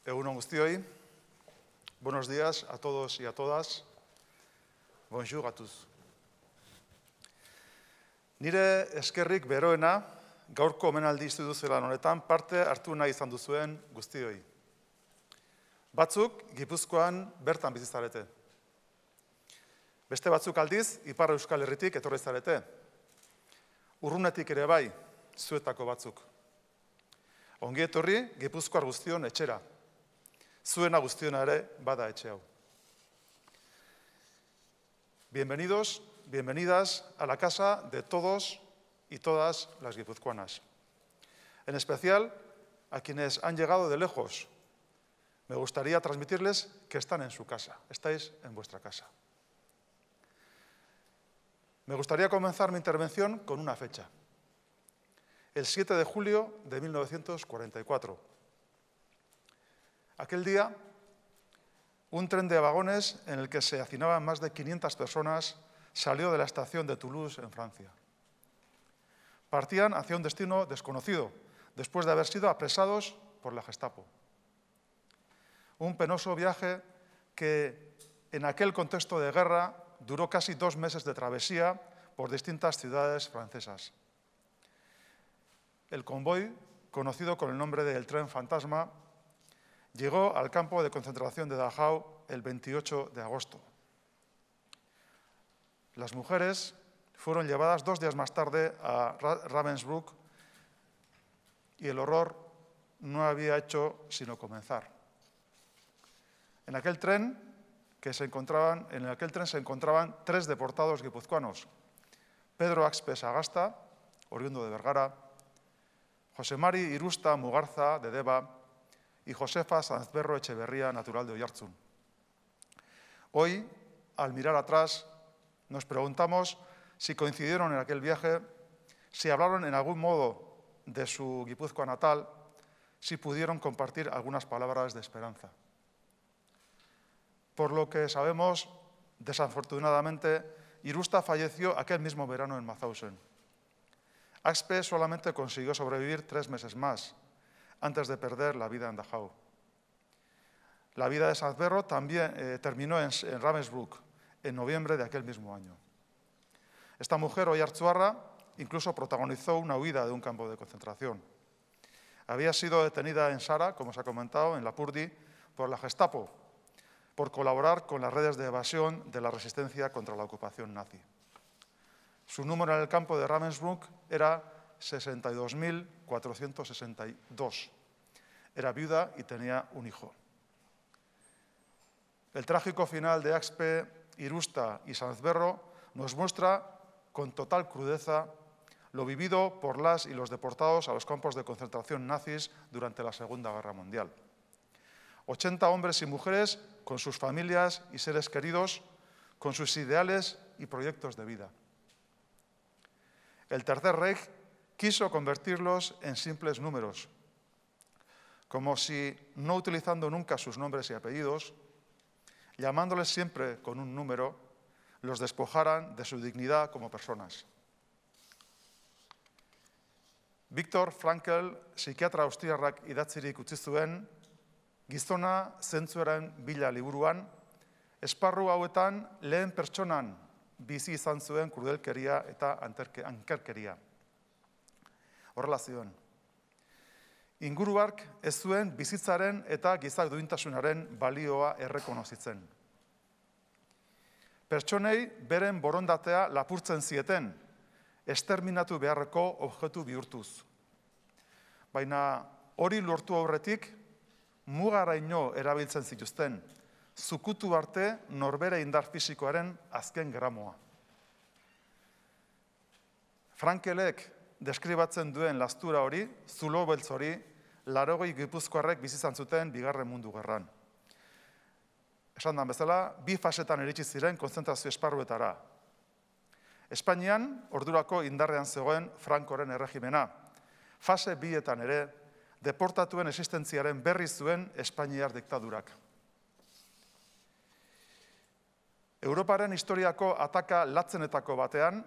Egunon guztioi, buenos días a todos y a todas, bonjour a tous. Nire eskerrik beroena gaurko omenaldi instituzional honetan parte hartu nahi izan duzuen guztioi. Batzuk Gipuzkoan bertan bizi zarete. Beste batzuk aldiz Ipar Euskal Herritik etorri zarete. Urrunetik ere bai, zuetako batzuk. Ongi etorri Gipuzkoar guztion etxera. Zuena guztiona ere bada etxe hau. Bienvenidos, bienvenidas a la casa de todos y todas las guipuzcoanas. En especial a quienes han llegado de lejos. Me gustaría transmitirles que están en su casa, estáis en vuestra casa. Me gustaría comenzar mi intervención con una fecha. El siete de julio de mil novecientos cuarenta y cuatro. Aquel día, un tren de vagones en el que se hacinaban más de quinientas personas salió de la estación de Toulouse, en Francia. Partían hacia un destino desconocido, después de haber sido apresados por la Gestapo. Un penoso viaje que, en aquel contexto de guerra, duró casi dos meses de travesía por distintas ciudades francesas. El convoy, conocido con el nombre del Tren Fantasma, llegó al campo de concentración de Dachau el veintiocho de agosto. Las mujeres fueron llevadas dos días más tarde a Ravensbrück y el horror no había hecho sino comenzar. En aquel tren, que se encontraban, en aquel tren se encontraban tres deportados guipuzcoanos: Pedro Axpe Sagasta, oriundo de Vergara, José Mari Irusta Mugarza, de Deba, y Josefa Sanzberro Echeverría, natural de Oiartzun. Hoy, al mirar atrás, nos preguntamos si coincidieron en aquel viaje, si hablaron en algún modo de su Guipúzcoa natal, si pudieron compartir algunas palabras de esperanza. Por lo que sabemos, desafortunadamente, Irusta falleció aquel mismo verano en Mauthausen. Axpe solamente consiguió sobrevivir tres meses más, antes de perder la vida en Dachau. La vida de Sanzberro también eh, terminó en, en Ravensbrück, en noviembre de aquel mismo año. Esta mujer, oiartzuarra, incluso protagonizó una huida de un campo de concentración. Había sido detenida en Sara, como se ha comentado, en Lapurdi, por la Gestapo, por colaborar con las redes de evasión de la resistencia contra la ocupación nazi. Su número en el campo de Ravensbrück era sesenta y dos mil cuatrocientos sesenta y dos. Era viuda y tenía un hijo. El trágico final de Axpe, Irusta y Sanzberro nos muestra con total crudeza lo vivido por las y los deportados a los campos de concentración nazis durante la Segunda Guerra Mundial. ochenta hombres y mujeres con sus familias y seres queridos, con sus ideales y proyectos de vida. El Tercer Reich quiso convertirlos en simples números, como si, no utilizando nunca sus nombres y apellidos, llamándoles siempre con un número, los despojaran de su dignidad como personas. Viktor Frankl, psikiatra austriarrak idatzirik utzi zuen, Gizona zentzuaren bila liburuan, esparru hauetan lehen pertsonan bizi izan zuen krudelkeria eta ankerkeria. Horrela zioen. Inguruark ez zuen bizitzaren eta giza duintasunaren balioa errekonozitzen. Pertsonei beren borondatea lapurtzen zieten, esterminatu beharreko objektu bihurtuz. Baina hori lortu aurretik, mugaraino erabiltzen zituzten, zukutu arte norbere indar fisikoaren azken gramoa. Frankelek deskribatzen duen lastura hori, zulo beltz hori, laurogei gipuzkoarrek bizizan zuten Bigarren Mundu Gerran. Esan da bezala, bi fasetan iritsi ziren kontzentrazio esparruetara. Espainian, ordurako indarrean zegoen Frankoren erregimena. Fase bietan ere, deportatuen existentziaren berri zuen Espainiar diktadurak. Europaren historiako ataka latzenetako batean,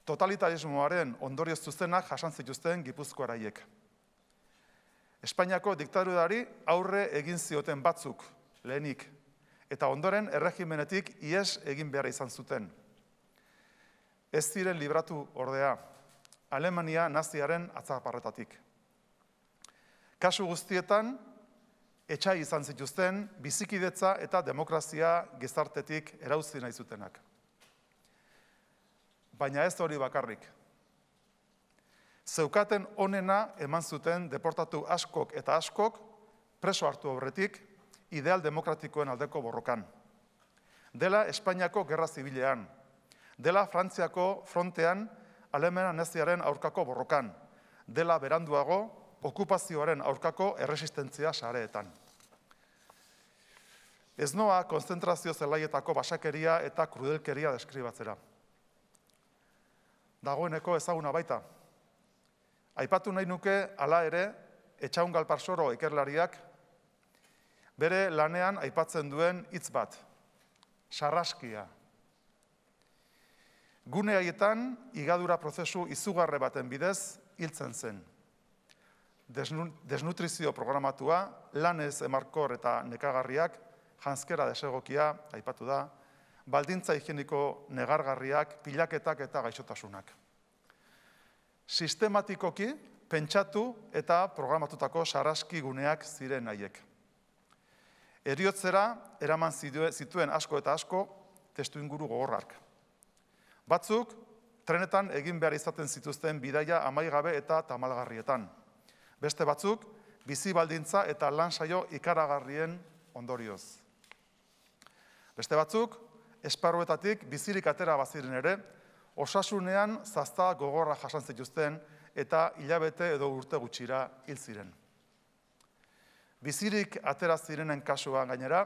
totalitarismoaren ondorioz zuzenak jasan zituzten gipuzkoaraiek. Espainiako diktadurari aurre egin zioten batzuk, lehenik, eta ondoren erregimenetik ihes egin behar izan zuten. Ez ziren libratu ordea, Alemania naziaren atzaparretatik. Kasu guztietan, etxai izan zituzten bizikidetza eta demokrazia gizartetik erauzi nahi zutenak. Baina ez hori bakarrik. Zeukaten onena eman zuten deportatu askok eta askok preso hartu aurretik ideal demokratikoen aldeko borrokan. Dela Espainiako Gerra Zibilean, dela Frantziako frontean Alemania naziaren aurkako borrokan, dela beranduago okupazioaren aurkako erresistentzia sareetan. Ez noa konzentrazio zelaietako basakeria eta krudelkeria deskribatzera. Dagoeneko ezaguna baita. Aipatu nahi nuke, hala ere, Etxaun Galparsoro ikerlariak bere lanean aipatzen duen hitz bat, sarraskia. Gune haietan, higadura prozesu izugarri baten bidez hiltzen zen. Desnutrizio programatua, lanez emarkor eta nekagarriak, janzkera desegokia, aipatu da, baldintza higieniko negargarriak, pilaketak eta gaixotasunak. Sistematikoki, pentsatu eta programatutako sarraski guneak ziren haiek. Heriotzera eraman zituen asko eta asko testu inguru gogorrak. Batzuk, trenetan egin behar izaten zituzten bidaia amaigabe eta tamalgarrietan. Beste batzuk, bizi baldintza eta lan saio ikaragarrien ondorioz. Beste batzuk, esparruetatik bizirik atera baziren ere, osasunean zazta gogorra jasan zituzten eta hilabete edo urte gutxira hil ziren. Bizirik atera zirenen kasuan gainera,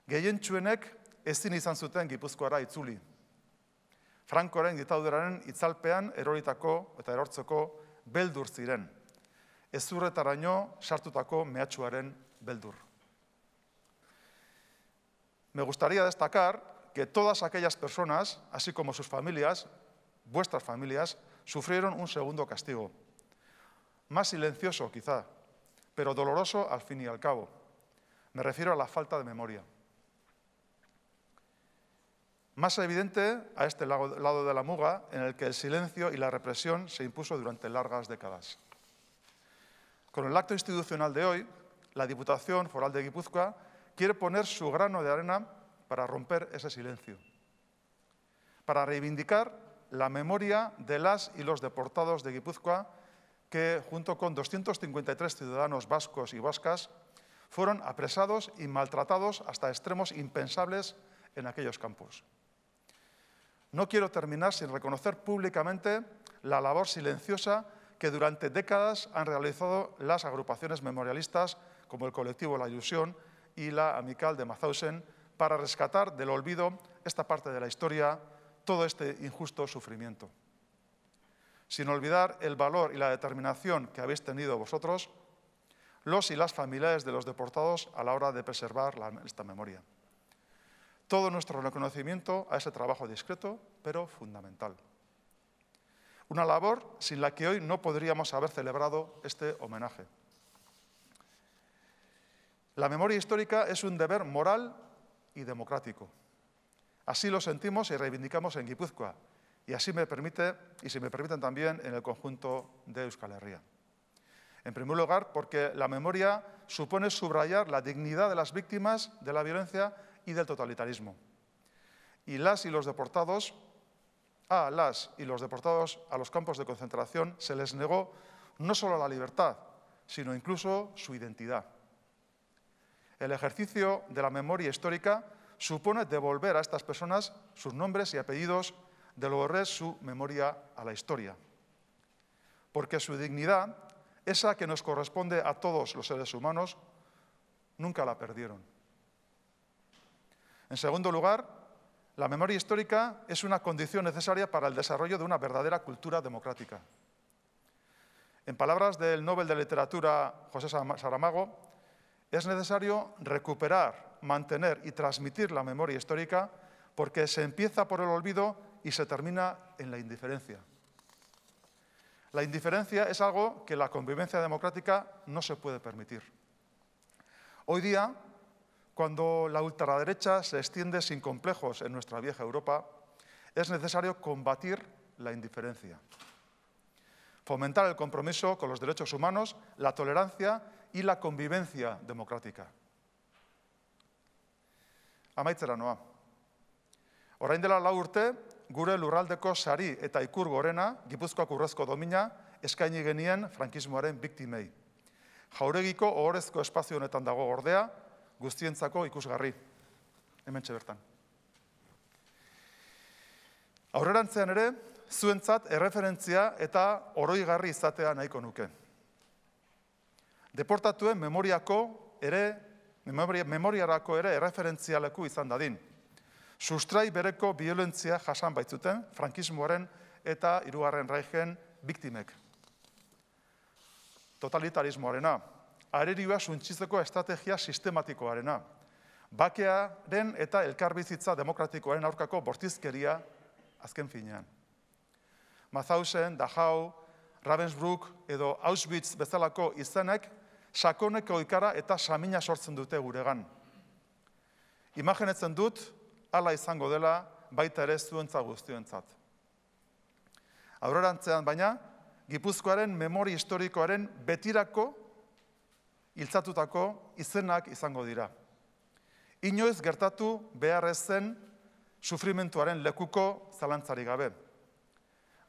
gehientsuenek ezin izan zuten Gipuzkoara itzuli. Frankoren diktaduraren itzalpean eroritako eta erortzeko beldur ziren. Ezurretaraino sartutako mehatxuaren beldur. Me gustaría destacar que todas aquellas personas, así como sus familias, vuestras familias, sufrieron un segundo castigo. Más silencioso, quizá, pero doloroso al fin y al cabo. Me refiero a la falta de memoria. Más evidente a este lado de la muga, en el que el silencio y la represión se impuso durante largas décadas. Con el acto institucional de hoy, la Diputación Foral de Guipúzcoa quiere poner su grano de arena para romper ese silencio, para reivindicar la memoria de las y los deportados de Guipúzcoa que, junto con doscientos cincuenta y tres ciudadanos vascos y vascas, fueron apresados y maltratados hasta extremos impensables en aquellos campos. No quiero terminar sin reconocer públicamente la labor silenciosa que durante décadas han realizado las agrupaciones memorialistas como el colectivo La Ilusión y la Amical de Mauthausen para rescatar del olvido esta parte de la historia, todo este injusto sufrimiento. Sin olvidar el valor y la determinación que habéis tenido vosotros, los y las familiares de los deportados a la hora de preservar la, esta memoria. Todo nuestro reconocimiento a ese trabajo discreto, pero fundamental. Una labor sin la que hoy no podríamos haber celebrado este homenaje. La memoria histórica es un deber moral y democrático. Así lo sentimos y reivindicamos en Guipúzcoa, y así me permite, y si me permiten también, en el conjunto de Euskal Herria. En primer lugar, porque la memoria supone subrayar la dignidad de las víctimas de la violencia y del totalitarismo. Y las y los deportados, a las y los deportados a los campos de concentración se les negó no solo la libertad, sino incluso su identidad. El ejercicio de la memoria histórica supone devolver a estas personas sus nombres y apellidos, devolver su memoria a la historia. Porque su dignidad, esa que nos corresponde a todos los seres humanos, nunca la perdieron. En segundo lugar, la memoria histórica es una condición necesaria para el desarrollo de una verdadera cultura democrática. En palabras del Nobel de Literatura José Saramago, es necesario recuperar, mantener y transmitir la memoria histórica porque se empieza por el olvido y se termina en la indiferencia. La indiferencia es algo que la convivencia democrática no se puede permitir. Hoy día, cuando la ultraderecha se extiende sin complejos en nuestra vieja Europa, es necesario combatir la indiferencia. fomentar el compromiso con los derechos humanos, la tolerancia y la convivencia democrática. Amaitzera noa. Orain dela lau urte, gure lurraldeko sari eta ikur gorena, Gipuzkoako urrezko domina, eskaini genien frankismoaren biktimei. Jauregiko ohorezko espazio honetan dago ordea, guztientzako ikusgarri. Hementxe bertan. Aurrerantzean ere, zuentzat erreferentzia eta oroigarri izatea nahiko nuke. Deportatuen memoriako ere, memoriarako ere erreferentzialeku izan dadin. Sustrai bereko violentzia jasan baitzuten frankismoaren eta hirugarren Reichen biktimek. Totalitarismoarena, arerioa suntsitzeko estrategia sistematikoarena, bakearen eta elkarbizitza demokratikoaren aurkako bortizkeria azken finean. Mauthausen, Dachau, Ravensbrück edo Auschwitz bezalako izenek sakoneko ikara eta samina sortzen dute guregan. Imaginetzen dut, hala izango dela baita ere zuentza guztiontzat. Aurrerantzean baina, Gipuzkoaren memori historikoaren betirako hiltzatutako izenak izango dira. Inoiz gertatu beharrez zen sufrimentuaren lekuko zalantzarik gabe.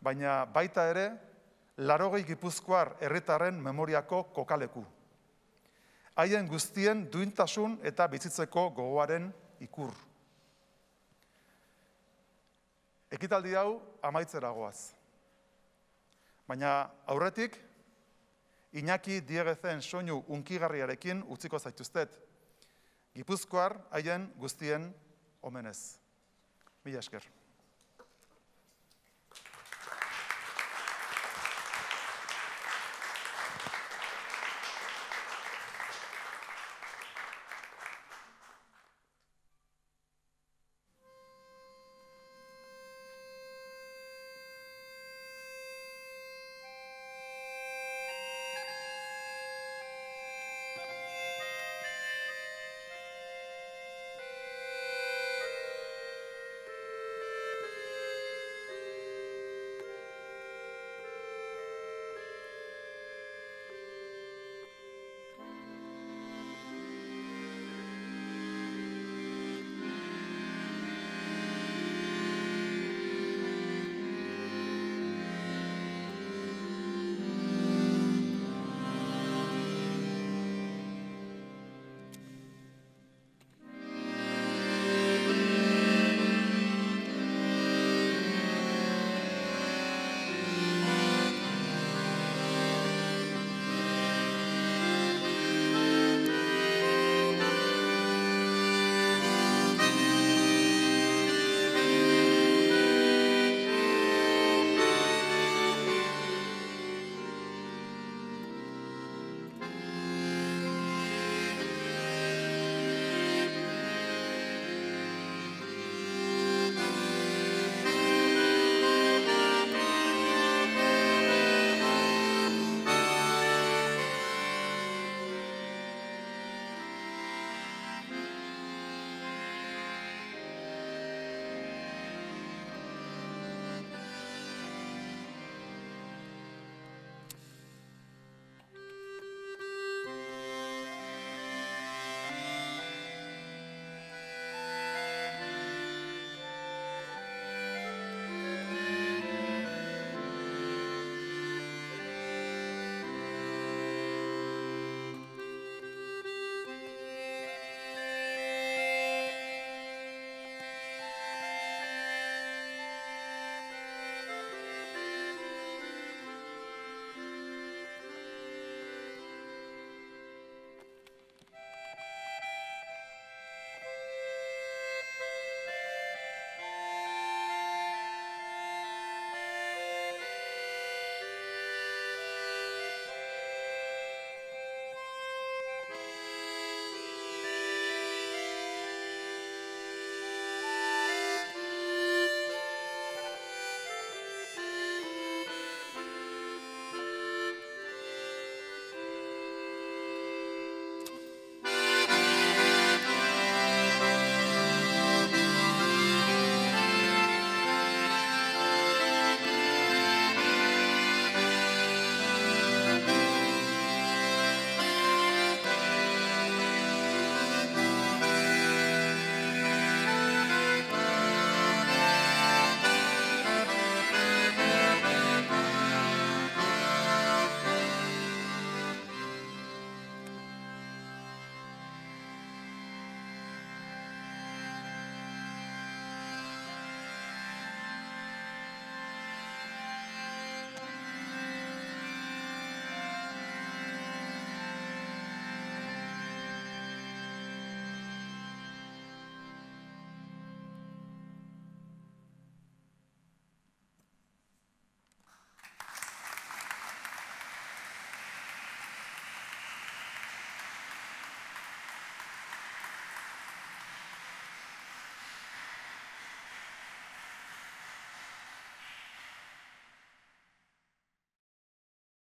Baina baita ere, laurogei Gipuzkoar herritarren memoriako kokaleku. Haien guztien duintasun eta bizitzeko gogoaren ikur. Ekitaldi hau amaitzera goaz. Baina aurretik, Iñaki Diegezen soinu unkigarriarekin utziko zaituztet. Gipuzkoar haien guztien omenez. Mila esker.